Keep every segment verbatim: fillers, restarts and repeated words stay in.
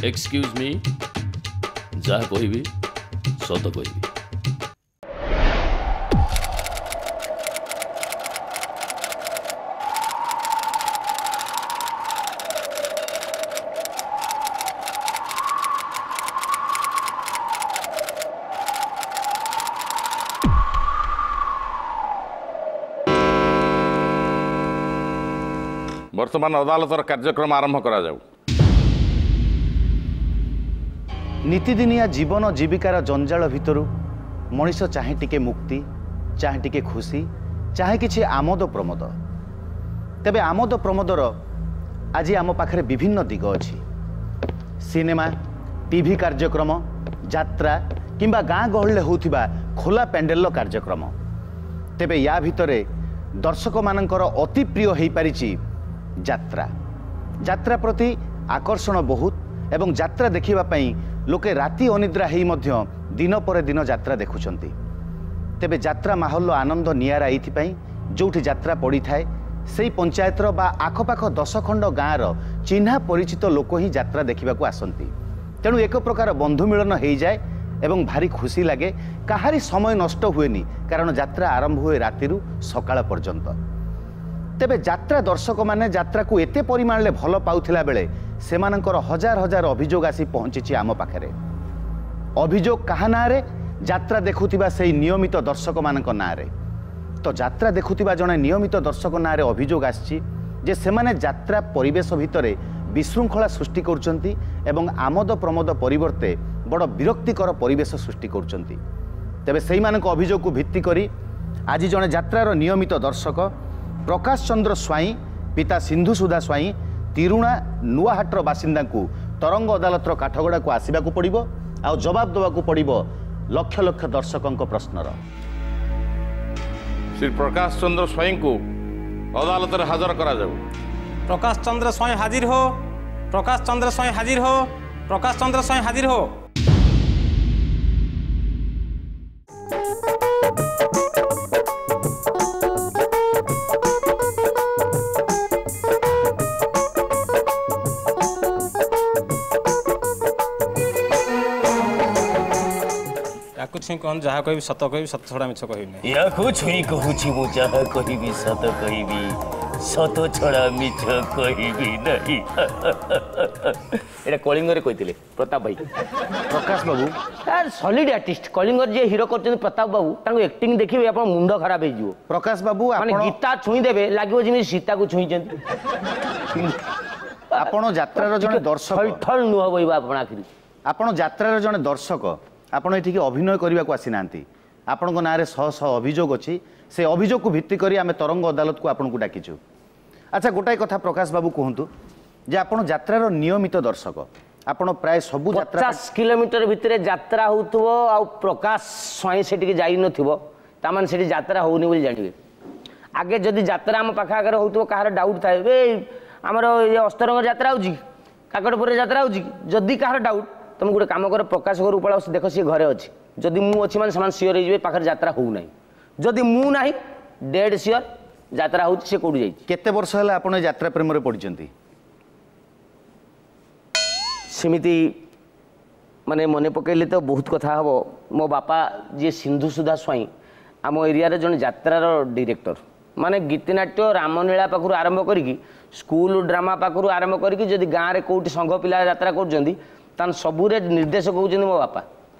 Excuse ମି, ଯାହା କହିବି ସତ କହିବି। ବର୍ତ୍ତମାନ ଅଦାଲତର କାର୍ଯ୍ୟକ୍ରମ ଆରମ୍ଭ କରାଯାଉ। ନିତିଦିନିଆ ଜୀବନ ଜୀବିକାର ଜଞ୍ଜାଳ ଭିତରୁ ମଣିଷ ଚାହେଁ ଟିକେ ମୁକ୍ତି, ଚାହେଁ ଟିକେ ଖୁସି, ଚାହେଁ କିଛି ଆମୋଦ ପ୍ରମୋଦ। ତେବେ ଆମୋଦ ପ୍ରମୋଦର ଆଜି ଆମ ପାଖରେ ବିଭିନ୍ନ ଦିଗ ଅଛି। ସିନେମା, ଟିଭି କାର୍ଯ୍ୟକ୍ରମ, ଯାତ୍ରା କିମ୍ବା ଗାଁ ଗହଳିରେ ହେଉଥିବା ଖୋଲା ପ୍ୟାଣ୍ଡେଲର କାର୍ଯ୍ୟକ୍ରମ। ତେବେ ୟା ଭିତରେ ଦର୍ଶକମାନଙ୍କର ଅତି ପ୍ରିୟ ହୋଇପାରିଛି ଯାତ୍ରା। ଯାତ୍ରା ପ୍ରତି ଆକର୍ଷଣ ବହୁତ ଏବଂ ଯାତ୍ରା ଦେଖିବା ପାଇଁ ଲୋକେ ରାତି ଅନିଦ୍ରା ହେଇ ମଧ୍ୟ ଦିନ ପରେ ଦିନ ଯାତ୍ରା ଦେଖୁଛନ୍ତି। ତେବେ ଯାତ୍ରା ମାହୋଲର ଆନନ୍ଦ ନିଆରା ଏଇଥିପାଇଁ, ଯେଉଁଠି ଯାତ୍ରା ପଡ଼ିଥାଏ ସେଇ ପଞ୍ଚାୟତର ବା ଆଖପାଖ ଦଶ ଖଣ୍ଡ ଗାଁର ଚିହ୍ନା ପରିଚିତ ଲୋକ ହିଁ ଯାତ୍ରା ଦେଖିବାକୁ ଆସନ୍ତି। ତେଣୁ ଏକ ପ୍ରକାର ବନ୍ଧୁ ମିଳନ ହେଇଯାଏ ଏବଂ ଭାରି ଖୁସି ଲାଗେ। କାହାରି ସମୟ ନଷ୍ଟ ହୁଏନି, କାରଣ ଯାତ୍ରା ଆରମ୍ଭ ହୁଏ ରାତିରୁ ସକାଳ ପର୍ଯ୍ୟନ୍ତ। ତେବେ ଯାତ୍ରା ଦର୍ଶକମାନେ ଯାତ୍ରାକୁ ଏତେ ପରିମାଣରେ ଭଲ ପାଉଥିଲା ବେଳେ ସେମାନଙ୍କର ହଜାର ହଜାର ଅଭିଯୋଗ ଆସି ପହଞ୍ଚିଛି ଆମ ପାଖରେ। ଅଭିଯୋଗ କାହା ନାଁରେ? ଯାତ୍ରା ଦେଖୁଥିବା ସେଇ ନିୟମିତ ଦର୍ଶକମାନଙ୍କ ନାଁରେ। ତ ଯାତ୍ରା ଦେଖୁଥିବା ଜଣେ ନିୟମିତ ଦର୍ଶକ ନାଁରେ ଅଭିଯୋଗ ଆସିଛି ଯେ ସେମାନେ ଯାତ୍ରା ପରିବେଶ ଭିତରେ ବିଶୃଙ୍ଖଳା ସୃଷ୍ଟି କରୁଛନ୍ତି ଏବଂ ଆମୋଦ ପ୍ରମୋଦ ପରିବର୍ତ୍ତେ ବଡ଼ ବିରକ୍ତିକର ପରିବେଶ ସୃଷ୍ଟି କରୁଛନ୍ତି। ତେବେ ସେଇମାନଙ୍କ ଅଭିଯୋଗକୁ ଭିତ୍ତି କରି ଆଜି ଜଣେ ଯାତ୍ରାର ନିୟମିତ ଦର୍ଶକ ପ୍ରକାଶ ଚନ୍ଦ୍ର ସ୍ୱାଇଁ, ପିତା ସିନ୍ଧୁସୁଧା ସ୍ୱାଇଁ, ତିରୁଣା ନୂଆହାଟର ବାସିନ୍ଦାଙ୍କୁ ତରଙ୍ଗ ଅଦାଲତର କାଠଗଡ଼ାକୁ ଆସିବାକୁ ପଡ଼ିବ ଆଉ ଜବାବ ଦେବାକୁ ପଡ଼ିବ ଲକ୍ଷ ଲକ୍ଷ ଦର୍ଶକଙ୍କ ପ୍ରଶ୍ନର। ଶ୍ରୀ ପ୍ରକାଶ ଚନ୍ଦ୍ର ସ୍ୱାଇଁଙ୍କୁ ଅଦାଲତରେ ହାଜର କରାଯାଉ। ପ୍ରକାଶ ଚନ୍ଦ୍ର ସ୍ୱାଇଁ ହାଜିର ହୋ। ପ୍ରକାଶ ଚନ୍ଦ୍ର ସ୍ୱାଇଁ ହାଜିର ହୋ। ପ୍ରକାଶ ଚନ୍ଦ୍ର ସ୍ୱାଇଁ ହାଜିର ହୋ। ୟାକୁ ଛୁଇଁ କହନ୍ତୁ, ଯାହା କହିବି ସତ କହିବି, ସତ ଛଡ଼ା ମିଛ କହିବି ନାହିଁ। ୟାକୁ ଛୁଇଁ କହୁଛି ମୁଁ, ଯାହା କହିବି ସତ କହିବି, ସତ ଛଡ଼ା ମିଛ କହିବି ନାହିଁ। ଏଇଟା କଳିଙ୍ଗରେ କହିଥିଲେ ପ୍ରତାପ ଭାଇ। ପ୍ରକାଶ ବାବୁ ସଲିଡ୍ ଆର୍ଟିଷ୍ଟ। କଳିଙ୍ଗର ଯିଏ ହିରୋ କରିଛନ୍ତି ପ୍ରତାପ ବାବୁ, ତାଙ୍କୁ ଆକ୍ଟିଂ ଦେଖିବେ ଆପଣ ମୁଣ୍ଡ ଖରାପ ହେଇଯିବ। ପ୍ରକାଶ ବାବୁ, ମାନେ ଗୀତା ଛୁଇଁ ଦେବେ ଲାଗିବ ଯେମିତି ସୀତାକୁ ଛୁଇଁଛନ୍ତି। ଆପଣ ଯାତ୍ରାର ଜଣେ ଦର୍ଶକ। ଠଲ ନୁହଁ ବହିବ ଆପଣ ଆଖିରୁ। ଆପଣ ଯାତ୍ରାର ଜଣେ ଦର୍ଶକ, ଆପଣ ଏଠିକି ଅଭିନୟ କରିବାକୁ ଆସିନାହାନ୍ତି। ଆପଣଙ୍କ ନାଁରେ ଶହ ଶହ ଅଭିଯୋଗ ଅଛି। ସେ ଅଭିଯୋଗକୁ ଭିତ୍ତି କରି ଆମେ ତରଙ୍ଗ ଅଦାଲତକୁ ଆପଣଙ୍କୁ ଡାକିଛୁ। ଆଚ୍ଛା, ଗୋଟାଏ କଥା ପ୍ରକାଶ ବାବୁ କୁହନ୍ତୁ ଯେ ଆପଣ ଯାତ୍ରାର ନିୟମିତ ଦର୍ଶକ, ଆପଣ ପ୍ରାୟ ସବୁ ଯାତ୍ରା ପଚାଶ କିଲୋମିଟର ଭିତରେ ଯାତ୍ରା ହେଉଥିବ ଆଉ ପ୍ରକାଶ ସ୍ୱାଇଁ ସେଠିକି ଯାଇନଥିବ, ତାମାନେ ସେଠି ଯାତ୍ରା ହେଉନି ବୋଲି ଜାଣିବେ। ଆଗେ ଯଦି ଯାତ୍ରା ଆମ ପାଖ ଆଗରେ ହେଉଥିବ, କାହାର ଡାଉଟ୍ ଥାଏ, ଏ ଆମର ଏ ଅସ୍ତରଙ୍ଗ ଯାତ୍ରା ହେଉଛି କି, କାକଟପୁରରେ ଯାତ୍ରା ହେଉଛି କି, ଯଦି କାହାର ଡାଉଟ୍, ତୁମେ ଗୋଟେ କାମ କର, ପ୍ରକାଶ ଘରକୁ ପଳାଅ, ଦେଖ ସିଏ ଘରେ ଅଛି। ଯଦି ମୁଁ ଅଛି ମାନେ ସେମାନେ ସିଓର ହେଇଯିବେ ପାଖରେ ଯାତ୍ରା ହେଉନାହିଁ। ଯଦି ମୁଁ ନାହିଁ, ଡେଡ୍ ସିଓର ଯାତ୍ରା ହେଉଛି, ସେ କେଉଁଠି ଯାଇଛି। କେତେ ବର୍ଷ ହେଲା ଆପଣ ଏ ଯାତ୍ରା ପ୍ରେମରେ ପଡ଼ିଛନ୍ତି? ସେମିତି ମାନେ ମନେ ପକାଇଲେ ତ ବହୁତ କଥା ହେବ। ମୋ ବାପା ଯିଏ ସିନ୍ଧୁସୁଧା ସ୍ୱାଇଁ, ଆମ ଏରିଆରେ ଜଣେ ଯାତ୍ରାର ଡିରେକ୍ଟର, ମାନେ ଗୀତିନାଟ୍ୟ ରାମଲୀଳା ପାଖରୁ ଆରମ୍ଭ କରିକି ସ୍କୁଲ ଡ୍ରାମା ପାଖରୁ ଆରମ୍ଭ କରିକି ଯଦି ଗାଁରେ କେଉଁଠି ସଂଘ ପିଲା ଯାତ୍ରା କରୁଛନ୍ତି ତାହେଲେ ସବୁରେ ନିର୍ଦ୍ଦେଶକ ହେଉଛନ୍ତି ମୋ ବାପା।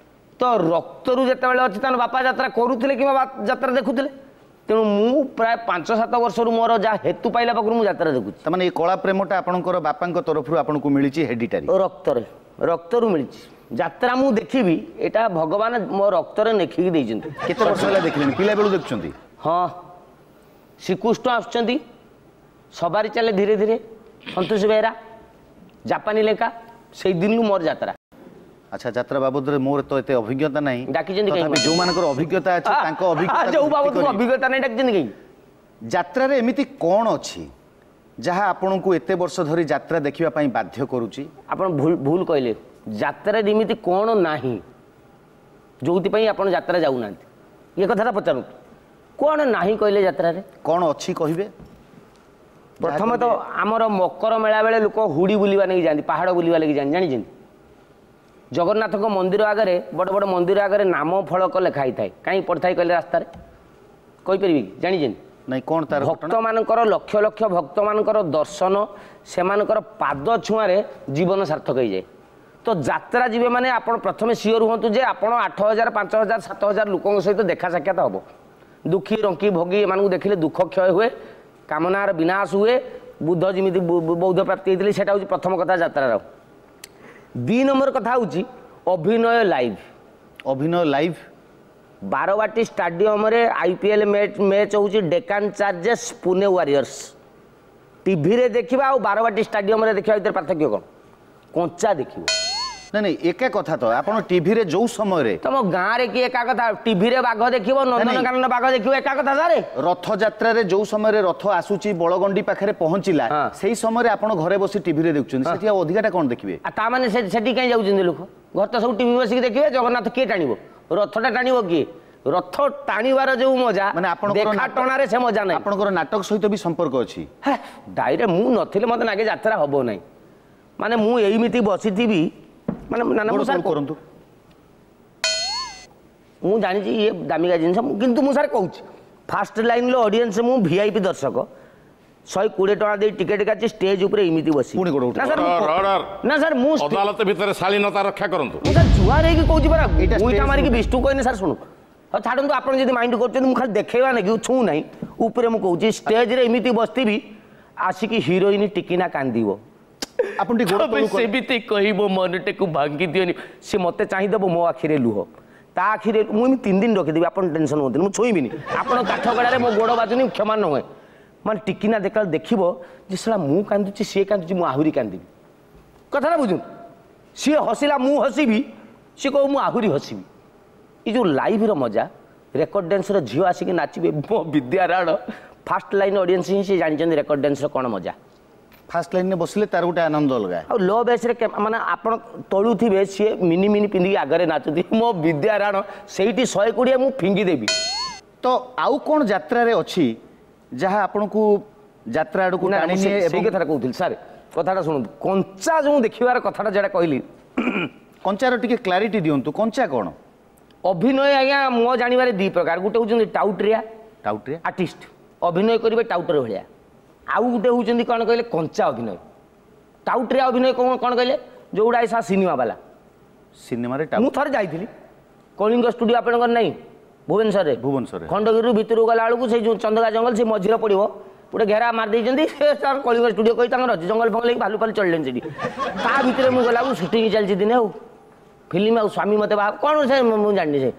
ତ ରକ୍ତରୁ ଯେତେବେଳେ ଅଛି ତାହେଲେ ବାପା ଯାତ୍ରା କରୁଥିଲେ କିମ୍ବା ଯାତ୍ରା ଦେଖୁଥିଲେ। ତେଣୁ ମୁଁ ପ୍ରାୟ ପାଞ୍ଚ ସାତ ବର୍ଷରୁ ମୋର ଯାହା ହେତୁ ପାଇଲା ପାଖରୁ ମୁଁ ଯାତ୍ରା ଦେଖୁଛି। ତାମାନେ ଏଇ କଳା ପ୍ରେମଟା ଆପଣଙ୍କର ବାପାଙ୍କ ତରଫରୁ ଆପଣଙ୍କୁ ମିଳିଛି ହେଡିଟାରୀ? ରକ୍ତରେ, ରକ୍ତରୁ ମିଳିଛି। ଯାତ୍ରା ମୁଁ ଦେଖିବି ଏଇଟା ଭଗବାନ ମୋ ରକ୍ତରେ ଲେଖିକି ଦେଇଛନ୍ତି। କେତେ ବର୍ଷ ହେଲା ଦେଖିଲେଣି? ପିଲାବେଳୁ ଦେଖୁଛନ୍ତି? ହଁ, ଶ୍ରୀକୃଷ୍ଣ ଆସୁଛନ୍ତି, ସବାରି ଚାଲେ ଧୀରେ ଧୀରେ, ସନ୍ତୋଷ ବେହେରା, ଜାପାନୀ ଲେଙ୍କା, ସେଇ ଦିନରୁ ମୋର ଯାତ୍ରା। ଆଚ୍ଛା, ଯାତ୍ରା ବାବଦରେ ମୋର ତ ଏତେ ଅଭିଜ୍ଞତା ନାହିଁ। ଡାକିଛନ୍ତି କାହିଁକି? ତଥାପି ଯେଉଁମାନଙ୍କର ଅଭିଜ୍ଞତା ଅଛି ତାଙ୍କ ଅଭିଜ୍ଞତା, ଯୋଉ ବାବଦକୁ ଅଭିଜ୍ଞତା ନାହିଁ ଡାକିଛନ୍ତି କାହିଁକି? ଯାତ୍ରାରେ ଏମିତି କ'ଣ ଅଛି ଯାହା ଆପଣଙ୍କୁ ଏତେ ବର୍ଷ ଧରି ଯାତ୍ରା ଦେଖିବା ପାଇଁ ବାଧ୍ୟ କରୁଛି? ଆପଣ ଭୁଲ ଭୁଲ କହିଲେ। ଯାତ୍ରାରେ ଏମିତି କ'ଣ ନାହିଁ ଯୋଉଥିପାଇଁ ଆପଣ ଯାତ୍ରା ଯାଉନାହାନ୍ତି, ଏ କଥାଟା ପଚାରନ୍ତୁ। କ'ଣ ନାହିଁ କହିଲେ ଯାତ୍ରାରେ? କ'ଣ ଅଛି କହିବେ? ପ୍ରଥମତଃ ଆମର ମକର ମେଳା ବେଳେ ଲୋକ ହୁଡ଼ି ବୁଲିବା ନେଇକି ଯାଆନ୍ତି, ପାହାଡ଼ ବୁଲିବା ଲାଗି ଯାଆନ୍ତି, ଜାଣିଛନ୍ତି? ଜଗନ୍ନାଥଙ୍କ ମନ୍ଦିର ଆଗରେ ବଡ଼ ବଡ଼ ମନ୍ଦିର ଆଗରେ ନାମ ଫଳକ ଲେଖା ହେଇଥାଏ କାହିଁ ପଡ଼ିଥାଏ କହିଲେ ରାସ୍ତାରେ କହିପାରିବି କି ଜାଣିଛନ୍ତି ନାଇଁ କ'ଣ ତାର ଭକ୍ତମାନଙ୍କର ଲକ୍ଷ ଲକ୍ଷ ଭକ୍ତମାନଙ୍କର ଦର୍ଶନ ସେମାନଙ୍କର ପାଦ ଛୁଆଁରେ ଜୀବନ ସାର୍ଥକ ହେଇଯାଏ ତ ଯାତ୍ରା ଯିବେ ମାନେ ଆପଣ ପ୍ରଥମେ ସିଓର ହୁଅନ୍ତୁ ଯେ ଆପଣ ଆଠ ହଜାର ପାଞ୍ଚ ହଜାର ସାତ ହଜାର ଲୋକଙ୍କ ସହିତ ଦେଖା ସାକ୍ଷାତ ହେବ ଦୁଃଖୀ ରଙ୍କି ଭୋଗୀ ଏମାନଙ୍କୁ ଦେଖିଲେ ଦୁଃଖ କ୍ଷୟ ହୁଏ କାମନାର ବିନାଶ ହୁଏ ବୁଦ୍ଧ ଯେମିତି ବୌଦ୍ଧ ପ୍ରାପ୍ତି ହେଇଥିଲେ ସେଇଟା ହେଉଛି ପ୍ରଥମ କଥା ଯାତ୍ରାର ଦୁଇ ନମ୍ବର କଥା ହେଉଛି ଅଭିନୟ ଲାଇଭ୍ ଅଭିନୟ ଲାଇଭ୍ ବାରବାଟୀ ଷ୍ଟାଡିୟମରେ I P L match ହେଉଛି ଡେକାନ ଚାର୍ଜେସ୍ ପୁନେ ୱାରିୟର୍ସ ଟିଭିରେ ଦେଖିବା ଆଉ ବାରବାଟୀ ଷ୍ଟାଡିୟମରେ ଦେଖିବା ଭିତରେ ପାର୍ଥକ୍ୟ କ'ଣ କଞ୍ଚା ଦେଖିବ ନାଇଁ ନାଇଁ ଏକା କଥା ତ ଆପଣ ଟିଭିରେ ଯୋଉ ସମୟରେ ତମ ଗାଁରେ କି ଏକା କଥା ଟିଭିରେ ବାଘ ଦେଖିବ ନନ୍ଦନକାନନ ବାଘ ଦେଖିବ ଏକା କଥା ସାରେ ରଥଯାତ୍ରାରେ ଯୋଉ ସମୟରେ ରଥ ଆସୁଛି ବଳଗଣ୍ଡି ପାଖରେ ପହଞ୍ଚିଲା ସେଇ ସମୟରେ ଆପଣ ଘରେ ବସି ଟିଭିରେ ଦେଖୁଛନ୍ତି ସେଠି ଆଉ ଅଧିକାଟା କ'ଣ ଦେଖିବେ ଆଉ ତା ମାନେ ସେଠି କାହିଁ ଯାଉଛନ୍ତି ଲୋକ ଘର ତ ସବୁ ଟିଭି ବସିକି ଦେଖିବେ ଜଗନ୍ନାଥ କିଏ ଟାଣିବ ରଥଟା ଟାଣିବ କିଏ ରଥ ଟାଣିବାର ଯୋଉ ମଜା ମାନେ ଆପଣଙ୍କର ଦେଖା ଟଣାରେ ସେ ମଜା ନାହିଁ ଆପଣଙ୍କର ନାଟକ ସହିତ ବି ସମ୍ପର୍କ ଅଛି ଡାଇରେକ୍ଟ ମୁଁ ନଥିଲେ ମତେ ନାଗେ ଯାତ୍ରା ହବ ନାହିଁ ମାନେ ମୁଁ ଏଇମିତି ବସିଥିବି ମାନେ ନା ନା ମୁଁ ସାର୍ କରନ୍ତୁ ମୁଁ ଜାଣିଛି ଇଏ ଦାମିକା ଜିନିଷ କିନ୍ତୁ ମୁଁ ସାର୍ କହୁଛି ଫାଷ୍ଟ ଲାଇନ୍ର ଅଡ଼ିଏନ୍ସ ମୁଁ ଭିଆଇପି ଦର୍ଶକ ଶହେ କୋଡ଼ିଏ ଟଙ୍କା ଦେଇ ଟିକେଟ୍ କାଟି ଷ୍ଟେଜ୍ ଉପରେ ଏମିତି ବସି ପୁଣି ଗୋଡ଼ ନା ସାର୍ ନା ସାର୍ ମୁଁ ଅଦାଲତ ଭିତରେ ଶାଳୀନତା ରକ୍ଷା କରନ୍ତୁ ମୁଁ ସାର୍ ଜୁହାର ହେଇକି କହୁଛି ପରା ଗୁଇଠା ମାରିକି ବିଷ୍ଣୁ କହିନି ସାର୍ ଶୁଣୁ ହଉ ଛାଡ଼ନ୍ତୁ ଆପଣ ଯଦି ମାଇଣ୍ଡ କରୁଛନ୍ତି ମୁଁ ଖାଲି ଦେଖେଇବା ନାକି ଛୁଁ ନାହିଁ ଉପରେ ମୁଁ କହୁଛି ଷ୍ଟେଜ୍ରେ ଏମିତି ବସିଥିବି ଆସିକି ହିରୋଇନ୍ ଟିକିନା କାନ୍ଦିବ ଆପଣ ଟିକେ ଗୋଡ଼ ତଳକୁ ସେମିତି କହିବ ମନଟାକୁ ଭାଙ୍ଗି ଦିଅନି ସେ ମୋତେ ଚାହିଁଦେବ ମୋ ଆଖିରେ ଲୁହ ତା ଆଖିରେ ମୁଁ ଏମିତି ତିନି ଦିନ ରଖିଦେବି ଆପଣ ଟେନସନ୍ ହୁଅନ୍ତୁନି ମୁଁ ଛୁଇଁବିନି ଆପଣ କାଠ ଗଡ଼ାରେ ମୋ ଗୋଡ଼ ବାଜୁନି କ୍ଷମା ନ ହୁଏ ମାନେ ଟିକିନା ଦେଖିଲା ଦେଖିବ ଯେ ଶଳା ମୁଁ କାନ୍ଦୁଛି ସିଏ କାନ୍ଦୁଛି ମୁଁ ଆହୁରି କାନ୍ଦିବି କଥାଟା ବୁଝୁন ସିଏ ହସିଲା ମୁଁ ହସିବି ସିଏ କହିବ ମୁଁ ଆହୁରି ହସିବି ଏ ଯେଉଁ ଲାଇଭ୍ର ମଜା ରେକର୍ଡ ଡ୍ୟାନ୍ସର ଝିଅ ଆସିକି ନାଚିବେ ମୋ ବିଦ୍ୟାରାଣ ଫାଷ୍ଟ ଲାଇନ୍ ଅଡ଼ିଏନ୍ସ ହିଁ ସେ ଜାଣିଛନ୍ତି ରେକର୍ଡ ଡ୍ୟାନ୍ସର କ'ଣ ମଜା ଫାଷ୍ଟ ଲାଇନ୍ରେ ବସିଲେ ତାର ଗୋଟେ ଆନନ୍ଦ ଅଲଗା ଆଉ ଲୋ ବେସ୍ରେ ମାନେ ଆପଣ ତଳୁଥିବେ ସିଏ ମିନି ମିନି ପିନ୍ଧିକି ଆଗରେ ନାଚୁଥିବେ ମୋ ବିଦ୍ୟାରାଣ ସେଇଠି ଶହେ କୋଡ଼ିଏ ମୁଁ ଫିଙ୍ଗିଦେବି ତ ଆଉ କ'ଣ ଯାତ୍ରାରେ ଅଛି ଯାହା ଆପଣଙ୍କୁ ଯାତ୍ରା ଆଡ଼କୁ ଟାଣି ନିଏ ସେଇ କଥାଟା କହୁଥିଲି ସାର୍ କଥାଟା ଶୁଣନ୍ତୁ କଞ୍ଚା ଯେଉଁ ଦେଖିବାର କଥାଟା ଯେଉଁଟା କହିଲି କଞ୍ଚାର ଟିକେ କ୍ଲାରିଟି ଦିଅନ୍ତୁ କଞ୍ଚା କ'ଣ ଅଭିନୟ ଆଜ୍ଞା ମୋ ଜାଣିବାରେ ଦୁଇ ପ୍ରକାର ଗୋଟେ ହେଉଛନ୍ତି ଟାଉଟରିଆ ଟାଉଟରିଆ ଆର୍ଟିଷ୍ଟ ଅଭିନୟ କରିବେ ଟାଉଟର ଭଳିଆ ଆଉ ଗୋଟେ ହେଉଛନ୍ତି କ'ଣ କହିଲେ କଞ୍ଚା ଅଭିନୟ ଟାଉଟରିଆ ଅଭିନୟ କ'ଣ କ'ଣ କହିଲେ ଯେଉଁଗୁଡ଼ା ଏସା ସିନେମା ବାଲା ସିନେମାରେ ମୁଁ ଥରେ ଯାଇଥିଲି କଳିଙ୍ଗ ଷ୍ଟୁଡ଼ିଓ ଆପଣଙ୍କର ନାହିଁ ଭୁବନେଶ୍ୱରରେ ଭୁବନେଶ୍ୱରରେ ଖଣ୍ଡଗିରିରୁ ଭିତରକୁ ଗଲା ବେଳକୁ ସେଇ ଯେଉଁ ଚନ୍ଦକା ଜଙ୍ଗଲ ସେ ମଝିରେ ପଡ଼ିବ ଗୋଟେ ଘେରା ମାରି ଦେଇଛନ୍ତି ସେ ତାର କଳିଙ୍ଗ ଷ୍ଟୁଡ଼ିଓ କହି ତାଙ୍କର ଅଛି ଜଙ୍ଗଲ ଫଙ୍ଗଲ ହେଇକି ଭାଲୁ ଫାଲୁ ଚଳିଲେଣି ସେଠି ତା ଭିତରେ ମୁଁ ଗଲାବେଳକୁ ସୁଟିଂ ଚାଲିଛି ଦିନେ ଆଉ ଫିଲ୍ମ ଆଉ ସ୍ୱାମୀ ମୋତେ ବାହା କ'ଣ ସେ ମୁଁ ଜାଣିନି ସେ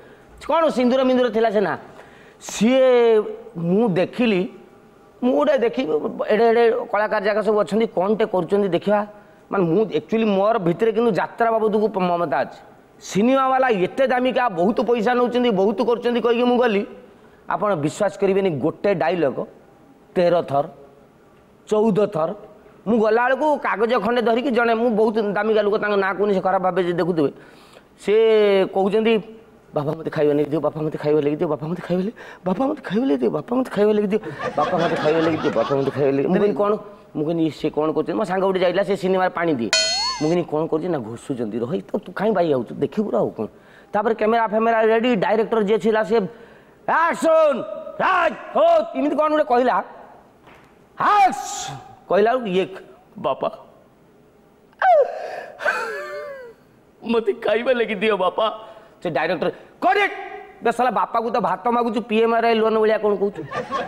କ'ଣ ସିନ୍ଦୁର ମିନ୍ଦୁର ଥିଲା ସେ ନା ସିଏ ମୁଁ ଦେଖିଲି ମୁଁ ଗୋଟେ ଦେଖି ଏଡ଼େ ଏଡ଼େ କଳାକାର ଯାକ ସବୁ ଅଛନ୍ତି କ'ଣଟେ କରୁଛନ୍ତି ଦେଖିବା ମାନେ ମୁଁ ଆକ୍ଚୁଆଲି ମୋର ଭିତରେ କିନ୍ତୁ ଯାତ୍ରା ବାବଦକୁ ମମତା ଅଛି ସିନେମା ବାଲା ଏତେ ଦାମିକା ବହୁତ ପଇସା ନେଉଛନ୍ତି ବହୁତ କରୁଛନ୍ତି କହିକି ମୁଁ ଗଲି ଆପଣ ବିଶ୍ୱାସ କରିବେନି ଗୋଟେ ଡାଇଲଗ ତେର ଥର ଚଉଦ ଥର ମୁଁ ଗଲାବେଳକୁ କାଗଜ ଖଣ୍ଡେ ଧରିକି ଜଣେ ମୁଁ ବହୁତ ଦାମିକା ଲୋକ ତାଙ୍କ ନାଁ କହୁନି ସେ ଖରାପ ଭାବେ ଯେ ଦେଖୁଥିବେ ସେ କହୁଛନ୍ତି ବାପା ମୋତେ ଖାଇବା ନେଇକି ଦିଅ ବାପା ମୋତେ ଖାଇବା ଲାଗି ଦିଅ ବାପା ମୋତେ ଖାଇବା ଲାଗି ବାପା ମୋତେ ଖାଇବା ଲାଗି ଦିଅ ବାପା ମୋତେ ଖାଇବା ଲାଗି ଦିଅ ବାପା ମୋତେ ଖାଇବା ଲାଗି ଦିଅ ବାପା ମୋତେ ଖାଇବା ଲାଗି ମୁଁ କହିଲି କ'ଣ ମୁଁ କହିଲି ସେ କ'ଣ କରୁଛନ୍ତି ମୋ ସାଙ୍ଗ ଗୋଟେ ଯାଇଥିଲା ସେ ସିନେମାରେ ପାଣି ଦିଏ ମୁଁ କହିଲି କ'ଣ କରୁଛି ନା ଘୋଷୁଛନ୍ତି ରହି ତ ତୁ କାହିଁ ବାଇ ଯାଉଛୁ ଦେଖିବୁ ଆଉ କ'ଣ ତାପରେ କ୍ୟାମେରା ଫ୍ୟାମେରା ରେଡ଼ି ଡାଇରେକ୍ଟର ଯିଏ ଥିଲା ସେ ଆକ୍ସନ୍ ରାଜ ହୋ ଏମିତି କ'ଣ ଗୋଟେ କହିଲା କହିଲା ବେଳକୁ ଇଏ ବାପା ମୋତେ ଖାଇବା ଲାଗି ଦିଅ ବାପା ସେ ଡାଇରେକ୍ଟର କରେକ୍ଟ ବେ ଶଳା ବାପାକୁ ତ ଭାତ ମାଗୁଛୁ P M R I loan ଭଳିଆ କ'ଣ କହୁଛୁ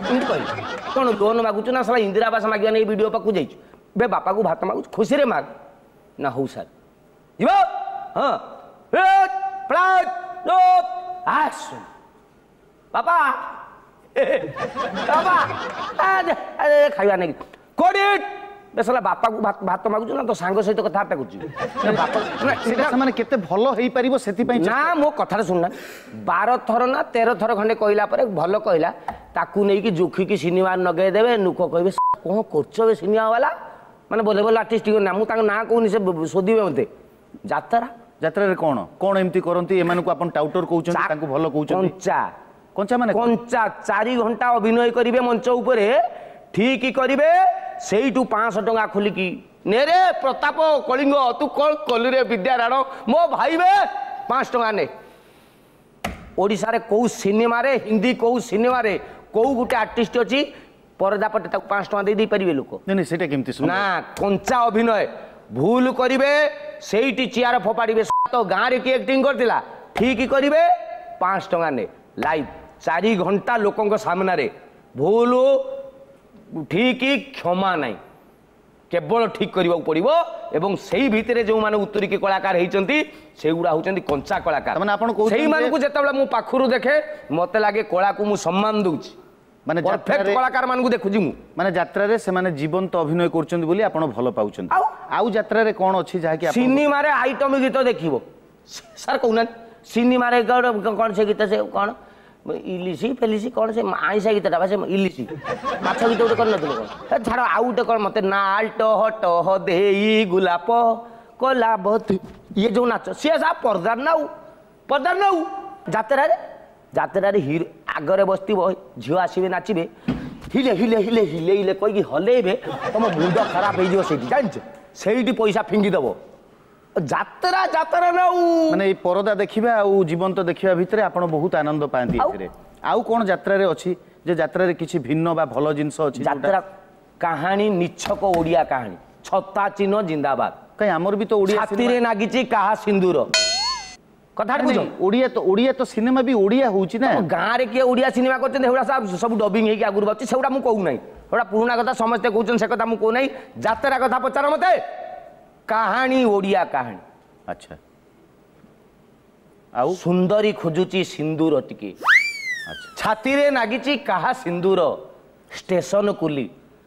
ଏମିତି କହିଲି କ'ଣ ଲୋନ୍ ମାଗୁଛୁ ନା ଶଳା ଇନ୍ଦିରା ଆବାସ ମାଗିବା ନେଇ ବିଡ଼ିଓ ପାଖକୁ ଯାଇଛୁ ବେ ବାପାକୁ ଭାତ ମାଗୁଛୁ ଖୁସିରେ ମାଗ ନା ହଉ ସାର୍ ଯିବ ହଁ ବାପା ବାପା ଖାଇବା ନେଇକି କୋଡ଼ିଏ ବେଶଲା ବାପାକୁ ଭାତ ମାଗୁଛୁ ନା ତୋ ସାଙ୍ଗ ସହିତ କଥାବାର୍ତ୍ତା କରୁଛୁ ବାପା ସେଇଟା ସେମାନେ କେତେ ଭଲ ହେଇପାରିବ ସେଥିପାଇଁ ନା ମୋ କଥାଟା ଶୁଣୁନା ବାର ଥର ନା ତେର ଥର ଖଣ୍ଡେ କହିଲା ପରେ ଭଲ କହିଲା ତାକୁ ନେଇକି ଜୁଖିକି ସିନେମା ଲଗେଇଦେବେ ଲୋକ କହିବେ କ'ଣ କରୁଛ ବେ ସିନେମା ବାଲା ମାନେ ବୋଲେ ବୋଲେ ଆର୍ଟିଷ୍ଟ ନା ମୁଁ ତାଙ୍କ ନାଁ କହୁନି ସେ ଶୋଧିବେ ମୋତେ ଯାତ୍ରା ଯାତ୍ରାରେ କ'ଣ କ'ଣ ଏମିତି କରନ୍ତି ଏମାନଙ୍କୁ ଆପଣ ଟାଉଟର କହୁଛନ୍ତି ତାଙ୍କୁ ଭଲ କହୁଛନ୍ତି କଞ୍ଚା କଞ୍ଚା ମାନେ କଞ୍ଚା ଚାରି ଘଣ୍ଟା ଅଭିନୟ କରିବେ ମଞ୍ଚ ଉପରେ ଠିକ କରିବେ ସେଇଠୁ ପାଞ୍ଚଶହ ଟଙ୍କା ଖୋଲିକି ନେ ରେ ପ୍ରତାପ କଳିଙ୍ଗ, ତୁ କ'ଣ କଲୁ ରେ ବିଦ୍ୟାରାଣ ମୋ ଭାଇ ବେ, ପାଞ୍ଚ ଟଙ୍କା ନେ। ଓଡ଼ିଶାରେ କେଉଁ ସିନେମାରେ, ହିନ୍ଦୀ କେଉଁ ସିନେମାରେ କେଉଁ ଗୋଟେ ଆର୍ଟିଷ୍ଟ ଅଛି ପରଦା ପଟେ ତାକୁ ପାଞ୍ଚ ଟଙ୍କା ଦେଇ ଦେଇପାରିବେ ଲୋକ? ନାଇଁ ନାଇଁ, ସେଇଟା କେମିତି ସମ୍ଭବ? ନା, କଞ୍ଚା ଅଭିନୟ ଭୁଲ କରିବେ ସେଇଠି ଚେୟାର ଫୋପାଡ଼ିବେ। ତ ଗାଁରେ କିଏ ଆକ୍ଟିଂ କରିଥିଲା? ଠିକ କରିବେ, ପାଞ୍ଚ ଟଙ୍କା ନେ। ଲାଇଭ୍ ଚାରି ଘଣ୍ଟା ଲୋକଙ୍କ ସାମ୍ନାରେ ଭୁଲ ଠିକ କ୍ଷମା ନାହିଁ, କେବଳ ଠିକ କରିବାକୁ ପଡ଼ିବ। ଏବଂ ସେଇ ଭିତରେ ଯେଉଁମାନେ ଉତ୍ତରିକି କଳାକାର ହେଇଛନ୍ତି ସେଗୁଡ଼ା ହେଉଛନ୍ତି କଞ୍ଚା କଳାକାର। ତାମାନେ ଆପଣ କହୁଛନ୍ତି ଯେ- ସେଇମାନଙ୍କୁ ଯେତେବେଳେ ମୁଁ ପାଖରୁ ଦେଖେ ମତେ ଲାଗେ କଳାକୁ ମୁଁ ସମ୍ମାନ ଦଉଛି। ମାନେ ପରଫେକ୍ଟ ଯାତ୍ରାରେ- କଳାକାର ମାନଙ୍କୁ ଦେଖୁଛି ମୁଁ। ମାନେ ଯାତ୍ରାରେ ସେମାନେ ଜୀବନ୍ତ ଅଭିନୟ କରୁଛନ୍ତି ବୋଲି ଆପଣ ଭଲ ପାଉଛନ୍ତି। ଆଉ? ଆଉ ଯାତ୍ରାରେ କ'ଣ ଅଛି ଯାହାକି ଆପଣ ସିନେମାରେ ଆଇଟମ ଗୀତ ଦେଖିବ ସାର୍, କହୁନାହାନ୍ତି, ସିନେମାରେ କ'ଣ କ'ଣ ସେ ଗୀତ, ସେ କ'ଣ ଇଲିସି ଫେଲିସି କ'ଣ ସେ ଆଇଁଷା ଗୀତଟା ବା, ସେ ଇଲିସି ମାଛ ଗୀତ ଗୋଟେ କରିନଥିଲେ କ'ଣ? ହେ ଛାଡ଼, ଆଉ ଗୋଟେ କ'ଣ ମତେ ନାଲ ଟହ ଟହ ଦେଇ ଗୋଲାପ କଲାବତୀ, ଇଏ ଯୋଉ ନାଚ ସିଏ ସା ପର୍ଦାର ନାଉ ପର୍ଦାର ନାଉ। ଯାତ୍ରାରେ ଯାତ୍ରାରେ ହିରୋ ଆଗରେ ବସିଥିବ, ଝିଅ ଆସିବେ ନାଚିବେ, ହିଲେ ହିଲେ ହିଲେ ହିଲେ ହିଲେ କହିକି ହଲେଇବେ, ତମ ମୁଣ୍ଡ ଖରାପ ହେଇଯିବ ସେଇଠି, ଜାଣିଛ? ସେଇଠି ପଇସା ଫିଙ୍ଗିଦବ। ଯାତ୍ରା ଯାତ୍ରା ନାଉ। ମାନେ ଏଇ ପରଦା ଦେଖିବା ଆଉ ଜୀବନ୍ତ ଦେଖିବା ଭିତରେ ଆପଣ ବହୁତ ଆନନ୍ଦ ପାଆନ୍ତି। ଆଉ? ଏଥିରେ ଆଉ କ'ଣ ଯାତ୍ରାରେ ଅଛି ଯେ ଯାତ୍ରାରେ କିଛି ଭିନ୍ନ ବା ଭଲ ଜିନିଷ ଅଛି ଯୋଉଟା- ଯାତ୍ରା କାହାଣୀ ନିଛକ ଓଡ଼ିଆ କାହାଣୀ, ଛତା ଚିହ୍ନ ଜିନ୍ଦାବାଦ। କାଇଁ, ଆମର ବି ତ ଓଡ଼ିଆ ଛାତିରେ ନାଗିଛି କାହା ସିନ୍ଦୁର, କଥା ନାଇଁ, ବୁଝ। ନାଇଁ, ଓଡ଼ିଆ ତ ଓଡ଼ିଆ ତ ସିନେମା ବି ଓଡ଼ିଆ ହଉଛି ନା। ଗାଁରେ କିଏ ଓଡ଼ିଆ ସିନେମା କରୁଛନ୍ତି? ସେଗୁଡ଼ା ସବୁ ସବୁ ଡବିଂ ହେଇକି ଆଗରୁ ବାହାରୁଛି। ସେଗୁଡ଼ା ମୁଁ କହୁନାହିଁ, ସେଗୁଡ଼ା ପୁରୁଣା କଥା, ସମସ୍ତେ କହୁଛନ୍ତି, ସେ କଥା ମୁଁ କହୁନାହିଁ। ଯାତ୍ରା କଥା ପଚାର ମତେ, କାହାଣୀ ଓଡ଼ିଆ କାହାଣୀ। ଆଚ୍ଛା, ଆଉ ସୁନ୍ଦରୀ ଖୋଜୁଛି ସିନ୍ଦୁର ଟିକେ, ଆଚ୍ଛା ଛାତିରେ ନାଗିଛି କାହା ସିନ୍ଦୁର, ଷ୍ଟେସନ କୁଲି,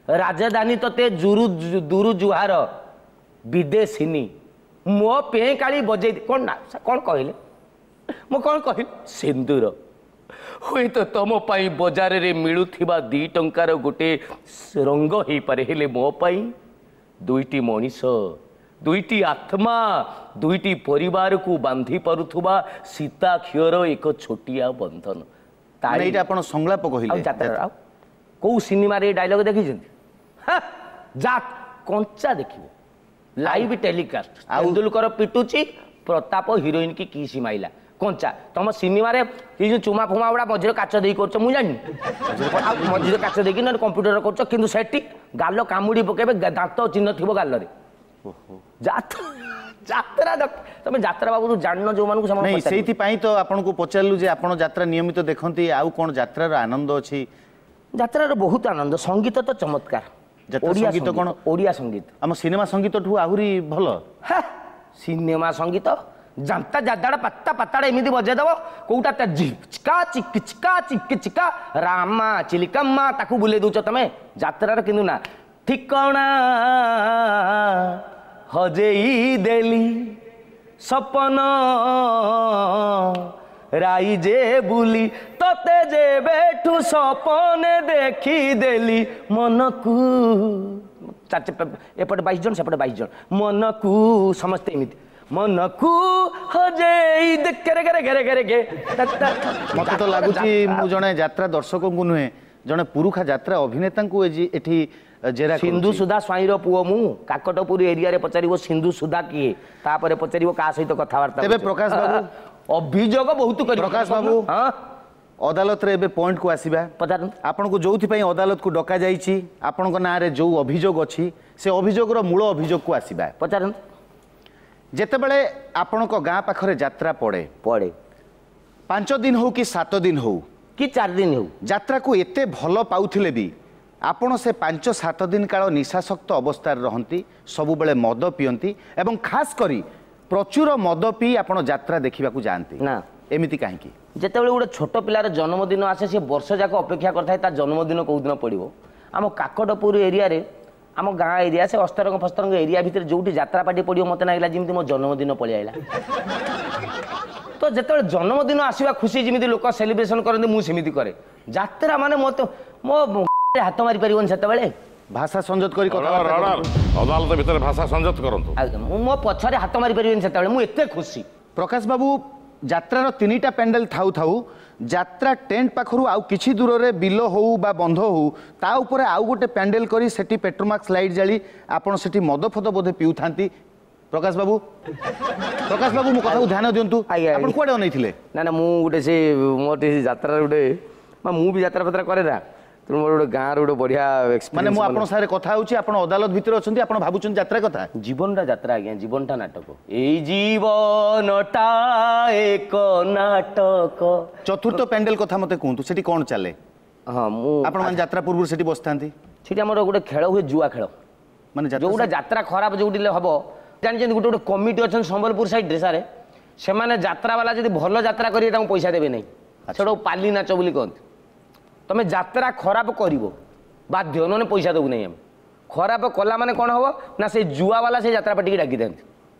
ରାଜଧାନୀ ତତେ ଜୁରୁ ଦୁରୁ ଜୁହାର, ବିଦେଶିନୀ ମୋ ପେଁ କାଳି ବଜେଇ, କ'ଣ ନା କ'ଣ କହିଲେ, ମୁଁ କ'ଣ କହିଲି? ସିନ୍ଦୁର ହୁଏତ ତମ ପାଇଁ ବଜାରରେ ମିଳୁଥିବା ଦି ଟଙ୍କାର ଗୋଟେ ରଙ୍ଗ ହେଇପାରେ, ହେଲେ ମୋ ପାଇଁ ଦୁଇଟି ମଣିଷ, ଦୁଇଟି ଆତ୍ମା, ଦୁଇଟି ପରିବାରକୁ ବାନ୍ଧି ପାରୁଥିବା ସୀତା କ୍ଷୀର ଏକ ଛୋଟିଆ ବନ୍ଧନ। ମାନେ ଏଇଟା ଆପଣ ସଂଳାପ କହିଲେ? ଆଉ ଯାତ୍ରା ଆଉ କୋଉ ସିନେମାରେ ଏ ଡାଇଲଗ ଦେଖିଛନ୍ତି? ହାଁ, ଯା କଞ୍ଚା ଦେଖିବ ଲାଇଭ୍ ଟେଲିକାଷ୍ଟ। ଆଉ- ତେନ୍ଦୁଲକର ପିଟୁଛି, ପ୍ରତାପ ହିରୋଇନ କି କିସି ମାଇଲା, କଞ୍ଚା। ତମ ସିନେମାରେ ଏଇ ଯୋଉ ଚୁମା ଫୁମା ଗୁଡ଼ା ମଝିରେ କାଚ ଦେଇ କରୁଛ, ମୁଁ ଜାଣିନି, ଆଉ ମଝିରେ କାଚ ଦେଇକି ନହେଲେ କମ୍ପ୍ୟୁଟର କରୁଛ, କିନ୍ତୁ ସେଠି ଗାଲ କାମୁଡ଼ି ପକେଇବେ, ଗା- ଦାନ୍ତ ଚିହ୍ନ ଥିବ ଗାଲରେ। ଯାତ୍ରା ଯାତ୍ରା ଦେଖ- ତମେ ଯାତ୍ରା ବାବୁରୁ ଜାଣିନ ଯୋଉମାନଙ୍କୁ ସେମାନେ ନାଇଁ, ପଚାରିବ। ସେଇଥିପାଇଁ ତ ଆପଣଙ୍କୁ ପଚାରିଲୁ ଯେ ଆପଣ ଯାତ୍ରା ନିୟମିତ ଦେଖନ୍ତି, ଆଉ କ'ଣ ଯାତ୍ରାର ଆନନ୍ଦ ଅଛି? ଯାତ୍ରାର ବହୁତ ଆନନ୍ଦ, ସଙ୍ଗୀତ ତ ଚମତ୍କାର। ଯାତ୍ରା ଓଡ଼ିଆ ସଙ୍ଗୀତ କ'ଣ? ଓଡ଼ିଆ ସଙ୍ଗୀତ ଆମ ସିନେମା ସଙ୍ଗୀତଠୁ ଆହୁରି ଭଲ? ହେ, ସିନେମା ସଙ୍ଗୀତ ଜାନ୍ତା ଜାଦାଡ଼ ପାତ୍ତା ପାତାଡ଼ ଏମିତି ବଜେଇଦବ, କୋଉଟା ତା ଝିକା ଚିକି ଚିକା ଚିକି ଚିକା ରାମା ଚିଲିକାମା, ତାକୁ ବୁଲେଇ ଦଉଛ ତମେ ଯାତ୍ରାର। କିନ୍ତୁ ନା, ଠିକଣା ହଜେଇ ଦେଲି ସପନ ରାଇଜେ ବୁଲି, ତତେ ଯେବେଠୁ ସପନେ ଦେଖିଦେଲି, ମନକୁ ଚାରି ଏପଟେ ବାଇଶ ଜଣ ସେପଟେ ବାଇଶ ଜଣ, ମନକୁ ସମସ୍ତେ ଏମିତି ମନକୁ ହଜେଇ ଦେ କେରେ କେରେ କେରେ କେରେ କେ ତା- ତା- ମତେ ତ ଲାଗୁଛି ମୁଁ ଜଣେ ଯାତ୍ରା ଦର୍ଶକଙ୍କୁ ନୁହେଁ, ଜଣେ ପୁରୁଖା ଯାତ୍ରା ଅଭିନେତାଙ୍କୁ ଏଜି- ଏଠି ଜେରା ସିନ୍ଧୁ କରୁଛି। ସୁଧା ସ୍ୱାଇଁର ପୁଅ ମୁଁ। କାକଟପୁର ଏରିଆରେ ପଚାରିବ ସିନ୍ଧୁ ସୁଧା କିଏ, ତାପରେ ପଚାରିବ କାହା ସହିତ କଥାବାର୍ତ୍ତା ତେବେ କରୁଛ। ପ୍ରକାଶ ବାବୁ, ଅଭିଯୋଗ ବହୁତ କରିବ। ପ୍ରକାଶ ବାବୁ, ହଁ, ଅଦାଲତରେ ଏବେ ପଏଣ୍ଟକୁ ଆସିବା। ପଚାରନ୍ତୁ। ଆପଣଙ୍କୁ ଯୋଉଥିପାଇଁ ଅଦାଲତକୁ ଡକାଯାଇଛି, ଆପଣଙ୍କ ନାଁରେ ଯୋଉ ଅଭିଯୋଗ ଅଛି, ସେ ଅଭିଯୋଗର ମୂଳ ଅଭିଯୋଗକୁ ଆସିବା। ପଚାରନ୍ତୁ। ଯେତେବେଳେ ଆପଣଙ୍କ ଗାଁ ପାଖରେ ଯାତ୍ରା ପଡ଼େ, ପଡ଼େ, ପାଞ୍ଚ ଦିନ ହଉ କି ସାତ ଦିନ ହଉ କି ଚାରି ଦିନ ହଉ, ଯାତ୍ରାକୁ ଏତେ ଭଲ ପାଉଥିଲେ ବି ଆପଣ ସେ ପାଞ୍ଚ ସାତ ଦିନ କାଳ ନିଶାସକ୍ତ ଅବସ୍ଥାରେ ରହନ୍ତି, ସବୁବେଳେ ମଦ ପିଅନ୍ତି ଏବଂ ଖାସ କରି ପ୍ରଚୁର ମଦ ପିଇ ଆପଣ ଯାତ୍ରା ଦେଖିବାକୁ ଯାଆନ୍ତି। ନା। ଏମିତି କାହିଁକି? ଯେତେବେଳେ ଗୋଟେ ଛୋଟ ପିଲାର ଜନ୍ମଦିନ ଆସେ, ସେ ବର୍ଷ ଯାକ ଅପେକ୍ଷା କରିଥାଏ ତା ଜନ୍ମଦିନ କେଉଁ ଦିନ ପଡ଼ିବ। ଆମ କାକଟପୁର ଏରିଆରେ, ଆମ ଗାଁ ଏରିଆ, ସେ ଅସ୍ତରଙ୍ଗ ଫସ୍ତରଙ୍ଗ ଏରିଆ ଭିତରେ ଯୋଉଠି ଯାତ୍ରା ପାର୍ଟି ପଡ଼ିବ, ମୋତେ ଲାଗିଲା ଯେମିତି ମୋ ଜନ୍ମଦିନ ପଳେଇ ଆଇଲା। ତ ଯେତେବେଳେ ଜନ୍ମଦିନ ଆସିବା ଖୁସି ଯେମିତି ଲୋକ ସେଲିବ୍ରେସନ କରନ୍ତି, ମୁଁ ସେମିତି କରେ। ଯାତ୍ରା ମାନେ ମୋତେ ମୋ ହାତ ମାରି ପାରିବନି ସେତେବେଳେ। ଭାଷା ସଂଯତ କରି ଅର୍ଡର କଥାବାର୍ତ୍ତା ଅର୍ଡର କରନ୍ତୁ। ଅଦାଲତ ଭିତରେ ଭାଷା ସଂଯତ କରନ୍ତୁ। ଆଜ୍ଞା, ମୁଁ ମୋ ପଛରେ ହାତ ମାରି ପାରିବିନି ସେତେବେଳେ, ମୁଁ ଏତେ ଖୁସି। ପ୍ରକାଶ ବାବୁ, ଯାତ୍ରାର ତିନିଟା ପ୍ୟାଣ୍ଡେଲ ଥାଉ ଥାଉ ଯାତ୍ରା ଟେଣ୍ଟ ପାଖରୁ ଆଉ କିଛି ଦୂରରେ ବିଲ ହଉ ବା ବନ୍ଧ ହଉ ତା ଉପରେ ଆଉ ଗୋଟେ ପ୍ୟାଣ୍ଡେଲ କରି ସେଠି ପେଟ୍ରୋମାକ୍ସ ଲାଇଟ୍ ଜାଳି ଆପଣ ସେଠି ମଦ ଫଦ ବୋଧେ ପିଉଥାନ୍ତି। ପ୍ରକାଶ ବାବୁ, ପ୍ରକାଶ ବାବୁ ମୋ କଥାକୁ ଧ୍ୟାନ ଦିଅନ୍ତୁ, ଆପଣ କୁଆଡ଼େ ଅନେଇଥିଲେ? ନା ନା, ମୁଁ ଗୋଟେ ସେ ମୋର ଟିକେ ଯାତ୍ରାର ଗୋଟେ, ମୁଁ ବି ଯାତ୍ରା ଫାତ୍ରା କରେ ନା, ତେଣୁ ମୋର ଗୋଟେ ଗାଁର ଗୋଟେ ବଢ଼ିଆ। ମାନେ ମୁଁ ଆପଣଙ୍କ ସାଙ୍ଗରେ କଥା ହେଉଛି, ଆପଣ ଅଦାଲତ ଭିତରେ ଅଛନ୍ତି, ଆପଣ ଭାବୁଛନ୍ତି ଯାତ୍ରା କଥା। ଜୀବନଟା ଯାତ୍ରା ଆଜ୍ଞା, ଜୀବନଟା ନାଟକ। ଏଇ ଜୀବନଟା ଏକ ନାଟକ। ଚତୁର୍ଥ ପ୍ୟାଣ୍ଡେଲ କଥା ମତେ କୁହନ୍ତୁ, ସେଠି କ'ଣ ଚାଲେ? ହଁ, ମୁଁ ଆପଣମାନେ ଯାତ୍ରା ପୂର୍ବରୁ ସେଠି ବସିଥାନ୍ତି। ସେଠି ଆମର ଗୋଟେ ଖେଳ ହୁଏ, ଜୁଆ ଖେଳ। ମାନେ ଯୋଉଟା ଯାତ୍ରା ଖରାପ ଯୋଉଠି ହବ, ଜାଣିଛନ୍ତି ଗୋଟେ ଗୋଟେ କମିଟି ଅଛନ୍ତି ସମ୍ବଲପୁର ସାଇଡ୍ରେ ସାରେ, ସେମାନେ ଯାତ୍ରାବାଲା ଯଦି ଭଲ ଯାତ୍ରା କରିବେ ତାଙ୍କୁ ପଇସା ଦେବେ ନାହିଁ, ସେଟାକୁ ପାଲି ନାଚ ବୋଲି କହନ୍ତି। ତମେ ଯାତ୍ରା ଖରାପ କରିବ ବାଧ୍ୟ, ନହେଲେ ପଇସା ଦେବୁ ନାହିଁ ଆମେ। ଖରାପ କଲା ମାନେ କ'ଣ ହବ ନା, ସେଇ ଜୁଆବାଲା ସେଇ ଯାତ୍ରା ପାଟିକି ଡାକିଥାନ୍ତି।